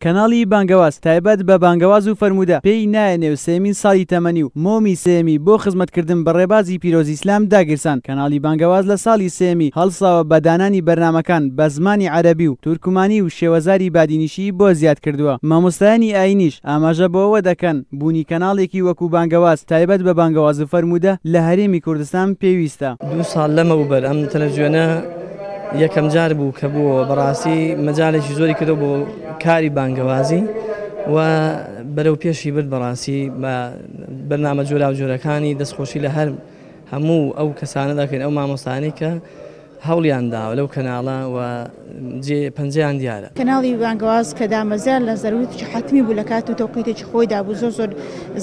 کەناڵی بانگەواز تایبەت بە بانگەواز و فەرموودە پێی نایە نێو سێیەمین ساڵی تەمەنی و مۆمی سێیەمی بۆ خزمەتکردن بە ڕێبازی پیرۆزی ئیسلام داگیرساند. کەناڵی بانگەواز لە ساڵی سێیەمی هەڵساوە بە دانانی بەرنامەکان بە زمانی عەرەبی و تورکمانی و شێوەزاری بادینیشی بۆ زیاد کردووە. مامۆستایانی ئایینیش ئاماژە بەوە دەکەن بوونی کەناڵێکی وەکو بانگەواز تایبەت بە بانگەواز و فەرموودە لە هەرێمی کوردستان پێویستە. دوو ساڵ لەمەوبەر ئەم تەلەفزیۆنە یەکەم جار بوو کە بووەوە، بەڕاستی مەجالێکی زۆری کردەوە بۆ کاری بانگەوازی و بەرەو پێشی برد بەڕاستی بە بەرنامە جۆراوجۆرەکانی دەستخۆشی لە هەر هەموو ئەو کەسانە دەکەین ئەو مامۆستانەی کە هەوڵیان داوە لەو کەناڵە و جێ پەنجەیان دیارە. کەناڵی بانگەواز کە دامەزرا لە زەرورەتێکی حەتمی بوو لە کات و تەوقیتێکی خۆیدا بوو زۆر زۆر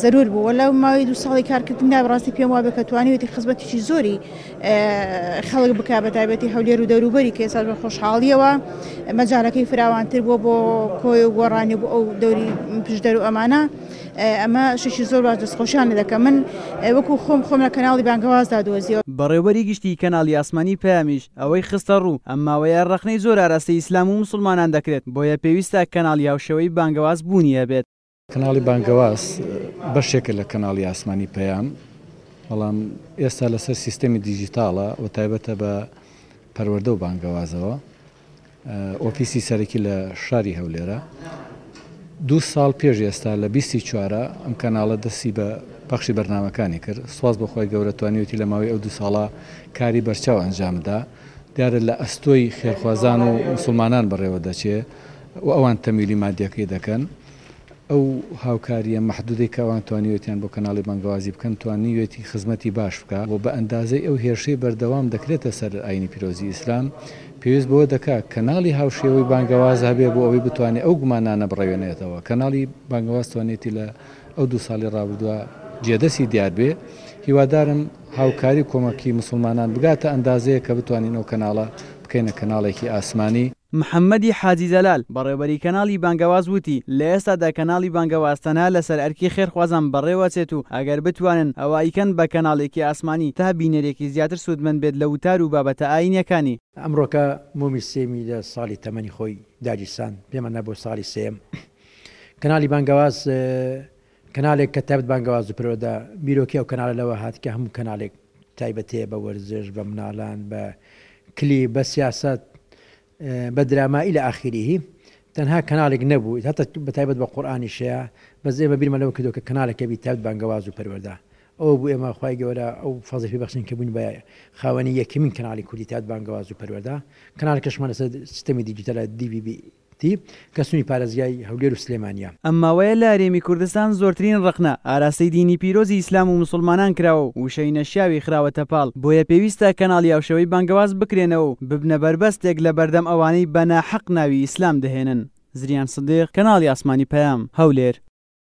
زەرور بوو و لەو ماوەی دوو ساڵی کارکردندا بەڕاستی پێم وابێ کە توانیوێتی خزمەتێکی زۆری خەڵک بکا بە تایبەتی هەولێر و دەوروبەری کە ئێستاش بە خۆشحاڵیەوە مەجالەکەی فراوانتر بووە بۆ کۆی و گۆڕانی بۆ ئەو دەوری پشدەر و ئەمانە. ئەمە شتێکی زۆر باش دەستخۆشیان لێ دەکەم من وەکو خۆم خۆم لە کەناڵی بانگەوازدا دۆزیەوە. بەڕێوبەری گشتیی کەناڵی ئاسمانی پەیامیش ئەوەی خستەڕوو، ئەم ماوەیە ڕەخنەی زۆر ئاراستەی ئیسلام و موسڵمانان دەکرێت، بۆیە پێویستە کەناڵی هاوشێوەی بانگەواز بوونی هەبێت. کەناڵی بانگەواز بەشێکە لە کەناڵی ئاسمانی پەیام، بەڵام ئێستا لەسەر سیستەمی دیجیتاڵە و تایبەتە بە پەروەردە و بانگەوازەوە. ئۆفیسی سەرەکی لە شاری هەولێرە. دوو ساڵ پێش ئێستا لە بیستی چوارە ئەم کەناڵە دەستی بە پەخشی بەرنامەکانی کرد. سوپاس بۆ خوای گەورە توانیویەتی لە ماوەی ئەو دوو ساڵە کاری بەرچاو ئەنجام بدا. دیارە لە ئەستۆی خێرخوازان و موسڵمانان بەڕێوە دەچێ و ئەوان تەمویلی مادیەکەی دەکەن. ئەو هاوکارییە مەحدودەی کە ئەوان توانیوێتیان بۆ کەناڵی بانگەوازی بکەن، توانیوێتی خزمەتی باش بکا و بە ئەندازەی ئەو هێرشەی بەردەوام دەکرێتە سەر ئایینی پیرۆزی ئیسلام، پێویست بەوە دەکا کەناڵی هاوشێوەی بانگەواز هەبێ بۆ ئەوەی بتوانێ ئەو گومانانە بڕەوێنێتەوە. کەناڵی بانگەواز توانیوێتی لە ئەو دوو ساڵی ڕابردووە جێدەستی دیار بێ. هیوادارم هاوکاری و کۆمەکی موسڵمانان بگاتە ئەندازەیەک کە بتوانین ئەو کەناڵە بکەینە کەناڵێکی ئاسمانی. محەممەدی حاجی جەلال، بەڕێوبەری کەناڵی بانگەواز وتی، لە ئێستادا کەناڵی بانگەواز تەنها لەسەر ئەرکی خێرخوازان بەڕێوەچێت و ئەگەر بتوانن ئەوا ئەیکەن بە کەناڵێکی ئاسمانی تا بینەرێکی زیاتر سوودمەند بێت لە وتار و بابەتە ئایینیەکانی. ئەمڕۆکە مۆمی سێیەمی لە ساڵی تەمەنی خۆی داگیرساند، پێمان نا بۆ ساڵی سێیەم کەناڵی بانگەواز کەناڵێک کە تایبەت بانگەواز و پەروەردە، بیرۆکەی ئەو کەناڵە لەوە هات کە هەموو کەناڵێک تایبەتەیە بە وەرزش، بە مناڵان، بە کلیپ، بە سیاسەت، بە دراما الی آخره تەنها کەناڵێک نەبوو هەتا بە تایبەت بە قورئانیش هەیە بەس ئێمە بیرمان لەوە کردەوە کە کەناڵێک هەبی تایبەت بانگەواز و پەروەردە ئەوە بوو ئێمە خوای گەورە ئەو فەزڵی پێ بەخشین کە بووین بە خاوەنی یەکەمین کەناڵی کوردی تایبەت بانگەواز و پەروەردە کەناڵەکەشمان لەسەر سیستەمی دیجیتالە دی ڤی بی تی، کە سنووری پارێزگای هەولێر و سلێمانییە. ئەم ماوەیە لە هەرێمی کوردستان زۆرترین ڕەخنە ئاراستەی دینی پیرۆزی ئیسلام و موسوڵمانان کراوە و وشەی نەشیاوی خراوەتە پاڵ، بۆیە پێویستە کەناڵی هاوشێوەی بانگەواز بکرێنەوە و ببنە بەربەستێک لە بەردەم ئەوانەی بە ناحەق ناوی ئیسلام دەهێنن. زریان سدیق، کەناڵی ئاسمانی پەیام، هەولێر.